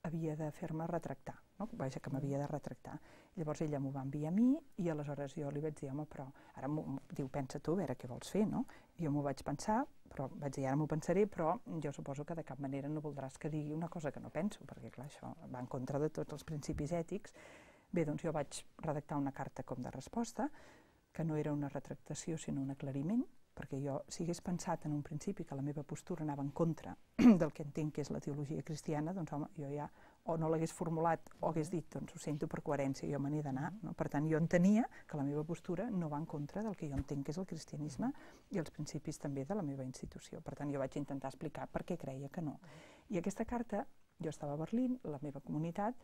havia de fer-me retractar, vaja, que m'havia de retractar. Llavors ella m'ho va enviar a mi i aleshores jo li vaig dir, home, però ara diu, pensa tu, a veure què vols fer, no? Jo m'ho vaig pensar, però vaig dir, ara m'ho pensaré, però jo suposo que de cap manera no voldràs que digui una cosa que no penso, perquè clar, això va en contra de tots els principis ètics. Bé, doncs jo vaig redactar una carta com de resposta, que no era una retractació sinó un aclariment, perquè jo, si hagués pensat en un principi que la meva postura anava en contra del que entenc que és la teologia cristiana, doncs home, jo ja o no l'hagués formulat o hagués dit, doncs ho sento per coherència, jo me n'he d'anar. Per tant, jo entenia que la meva postura no va en contra del que jo entenc que és el cristianisme i els principis també de la meva institució. Per tant, jo vaig intentar explicar per què creia que no. I aquesta carta, jo estava a Berlín, la meva comunitat,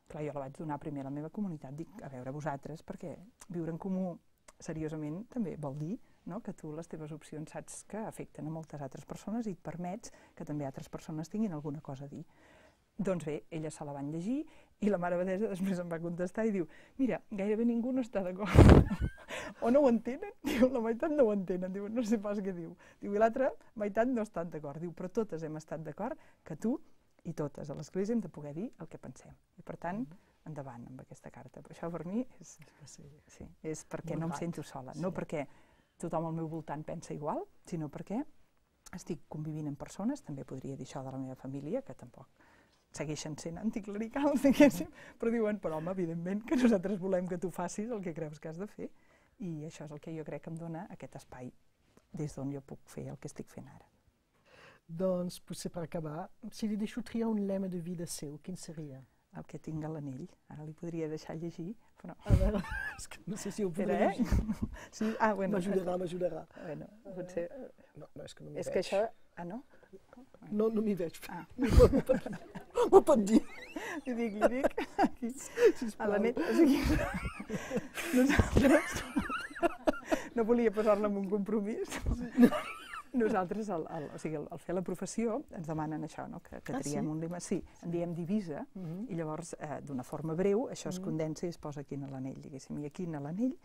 clar, jo la vaig donar primer a la meva comunitat, dic, a veure vosaltres, perquè viure en comú seriosament també vol dir que tu les teves opcions saps que afecten a moltes altres persones i et permets que també altres persones tinguin alguna cosa a dir. Doncs bé, elles se la van llegir i la mare abadessa després em va contestar i diu, mira, gairebé ningú no està d'acord. O no ho entenen, diu, la meitat no ho entenen, diu, no sé pas què diu. Diu, i l'altra meitat no estan d'acord, diu, però totes hem estat d'acord que tu i totes a l'església hem de poder dir el que pensem. I per tant, endavant amb aquesta carta. Però això per mi és perquè no em sento sola, no perquè tothom al meu voltant pensa igual, sinó perquè estic convivint amb persones, també podria dir això de la meva família, que tampoc segueixen sent anticlericals, diguéssim, però diuen, però home, evidentment que nosaltres volem que tu facis el que creus que has de fer, i això és el que jo crec que em dona aquest espai des d'on jo puc fer el que estic fent ara. Doncs, potser per acabar, si li deixo triar un lema de vida seu, quin seria? El que tinc a l'anell. Ara li podria deixar llegir, però... A veure, no sé si ho podré llegir. Sí? Bueno. M'ajudarà. Bueno, potser... No, és que no m'hi veig. És que això... Ah, no? No m'hi veig. M'ho pot dir. Li dic, aquí, a l'anell. O sigui, nosaltres... No volia posar-la en un compromís. Nosaltres, al fer la professió, ens demanen això, que triem un lema. Sí, en diem divisa, i llavors, d'una forma breu, això es condensa i es posa aquí a l'anell, diguéssim. I aquí a l'anell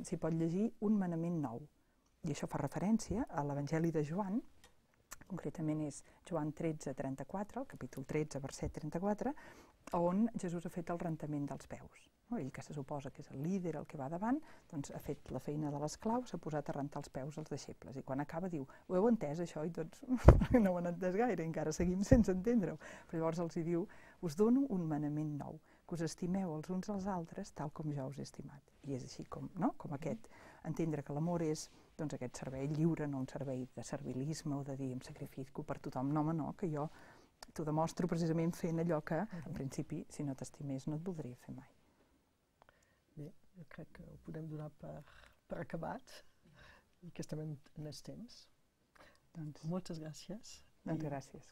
s'hi pot llegir un manament nou. I això fa referència a l'Evangeli de Joan, concretament és Joan 13:34, el capítol 13, verset 34, on Jesús ha fet el rentament dels peus. Ell, que se suposa que és el líder, el que va davant, doncs ha fet la feina de l'esclau, s'ha posat a rentar els peus als deixebles. I quan acaba diu, ho heu entès això? I tots no ho han entès gaire, encara seguim sense entendre-ho. Però llavors els diu, us dono un manament nou, que us estimeu els uns als altres tal com jo us he estimat. I és així com aquest, entendre que l'amor és aquest servei lliure, no un servei de servilisme o de dir em sacrifico per tothom. No, home, no, que jo t'ho demostro precisament fent allò que, en principi, si no t'estimés, no et voldria fer mai. Bé, jo crec que ho podem donar per acabat i que estem en els temps. Moltes gràcies. Doncs gràcies.